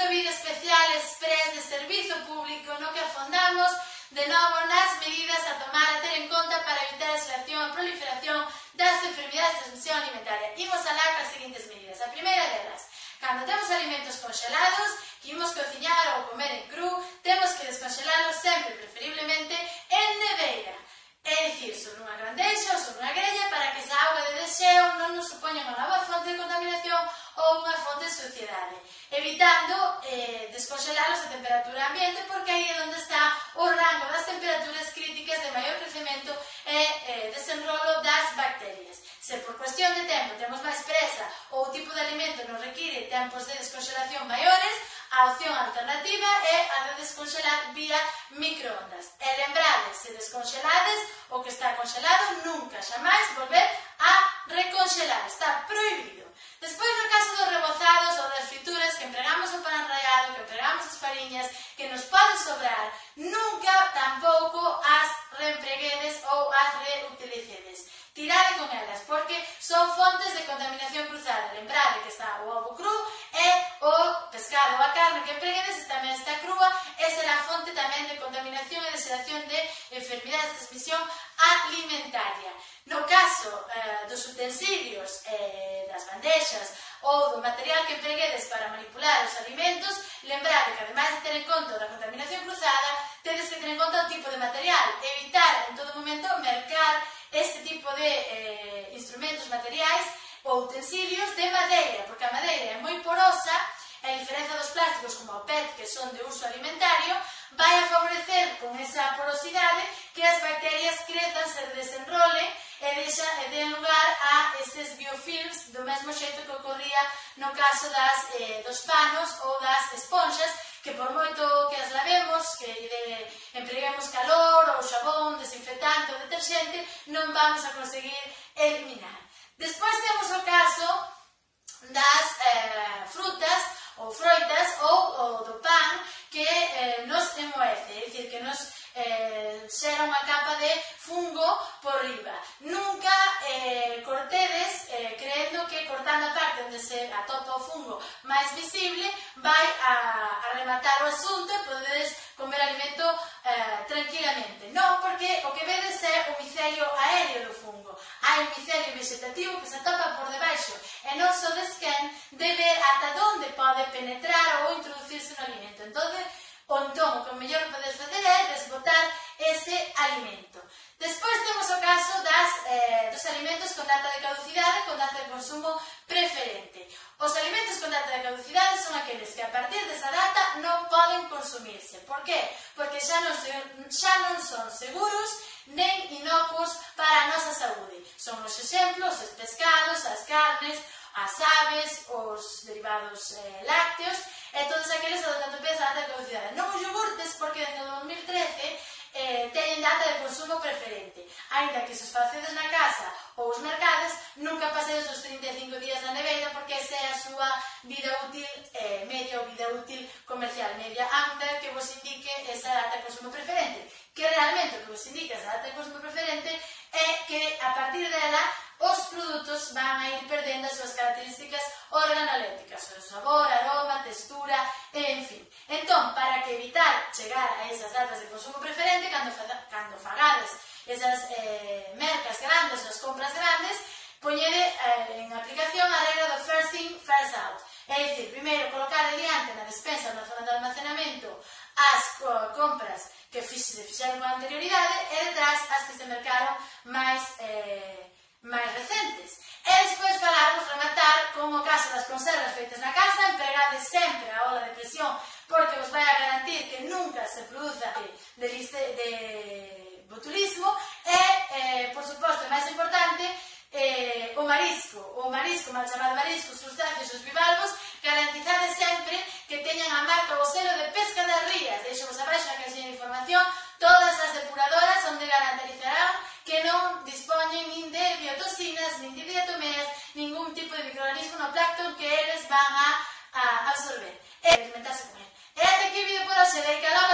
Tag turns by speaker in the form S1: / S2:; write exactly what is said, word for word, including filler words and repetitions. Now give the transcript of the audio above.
S1: vídeo especial express de servizo público no que afondamos de novo nas medidas a tomar a ter en conta para evitar a xeración e proliferación das enfermidades de transmisión alimentaria. Imos alá con as seguintes medidas. A primeira delas, cando temos alimentos congelados que imos cociñar ou comer en cru, temos que descongelalos sempre, preferiblemente en neveira. É dicir, sobre unha grandeixa ou sobre unha grella para que esa auga de desxeo non nos supoña unha nova fonte de contaminación ou unha fonte de suciedade, evitando eh, descongelalos a temperatura ambiente porque aí é onde está o rango das temperaturas críticas de maior crecemento e eh, desenrolo das bacterias. Se por cuestión de tempo temos máis presa ou o tipo de alimento nos require tempos de descongelación maiores, a opción alternativa é a de descongelar vía microondas. E lembrades, se descongelades o que está congelado, nunca, xamais, volver a recongelar. Está prohibido. Despois, no caso dos rebozados ou das frituras que empregamos o pan enraiado, que empregamos as fariñas, que nos pode sobrar, nunca tampouco as reempreguedes ou as reutilicedes. Tirade con elas, porque son fontes de contaminación cruzada. Lembrade que está o ovo cru e o pescado ou a carne que empreguedes tamén está crúa e será fonte tamén de contaminación e de xeración de enfermidades de transmisión alimentaria. No caso eh, dos utensilios, eh, das bandexas ou do material que empreguedes para manipular os alimentos, lembrade que, ademais de ter en conta da contaminación cruzada, tedes que ter en conta o tipo de material, evitar en todo momento mercar este tipo de eh, instrumentos materiais ou utensilios de madeira, porque a madeira é moi porosa e, a diferencia dos plásticos como o P E T, que son de uso alimentario, vai a favorecer con esa porosidade que as bacterias crezan, se desenrolen e, deixa, e den lugar a estes biofilms do mesmo xeito que ocorría no caso das, eh, dos panos ou das esponxas, que por moito que as lavemos, que de, empreguemos calor ou xabón, desinfectante ou deterxente, non vamos a conseguir eliminar. Despois temos o caso das eh, frutas ou froitas ou, ou do pan que eh, nos emoece, é dicir, que nos eh, xera unha capa de fungo por riba. Nunca eh, cortedes eh, creendo que cortando a parte onde se atopa o fungo máis visible vai a, a rematar o asunto e podedes comer alimento eh, tranquilamente. Non, porque o que vedes é o micelio aéreo do fungo. Hai un micelio vegetativo que se atopa por debaixo e non sodes quen de ver ata onde pode penetrar ou introducirse no alimento. Entón, o entón, o que o mellor podes fazer é desbotar ese alimento. Despois temos o caso das, eh, dos alimentos con data de caducidade, con data de consumo preferente. Os alimentos con data de caducidade son aqueles que a partir desa data non poden consumirse. Por qué? Porque xa non, se, xa non son seguros nen inocuos para a nosa saúde. Son os exemplos, os pescados, as carnes, as aves, os derivados eh, lácteos e todos aqueles que tanto pensa a data de caducidade. Non os iogurtes, porque desde o dos mil trece eh, teñen data de consumo preferente. Ainda que se os facedes na casa ou os mercados, nunca pasedes os trinta e cinco días na neveira, porque esa é a súa vida útil, eh, media ou vida útil comercial, media ampla, que vos indique esa data de consumo preferente. Que realmente o que vos indica esa data de consumo preferente é que a partir dela os produtos van a ir perdendo as súas características organolépticas, o sabor, aroma, textura, en fin. Entón, para que evitar chegar a esas datas de consumo preferente, cando, cando fagades esas eh, mercas grandes, as compras grandes, poñede eh, en aplicación a regra do first in, first out. É dicir, primeiro colocar adiante na despensa ou na zona de almacenamento as uh, compras que se fixeron con anterioridade e detrás as que se mercaron máis eh, máis recentes. E despois falarmos, rematar, con o caso das conservas feitas na casa, empregade sempre a ola de presión, porque vos vai a garantir que nunca se produza de, liste, de botulismo e, eh, por suposto, máis importante, eh, o marisco, o marisco, mal chamado marisco, os crustáceos, os bivalvos, garantizade sempre que teñan a marca ou selo de pesca das rías. Deixo vos abaixo na caixinha de información todas as depuradoras onde garantizarán que non dispoñen nin de biotoxinas, nin de diatomeas, ningún tipo de microorganismo no plancton que eles van a, a absorber e alimentarse con ele. E até aquí o vídeo por hoxe, de calor.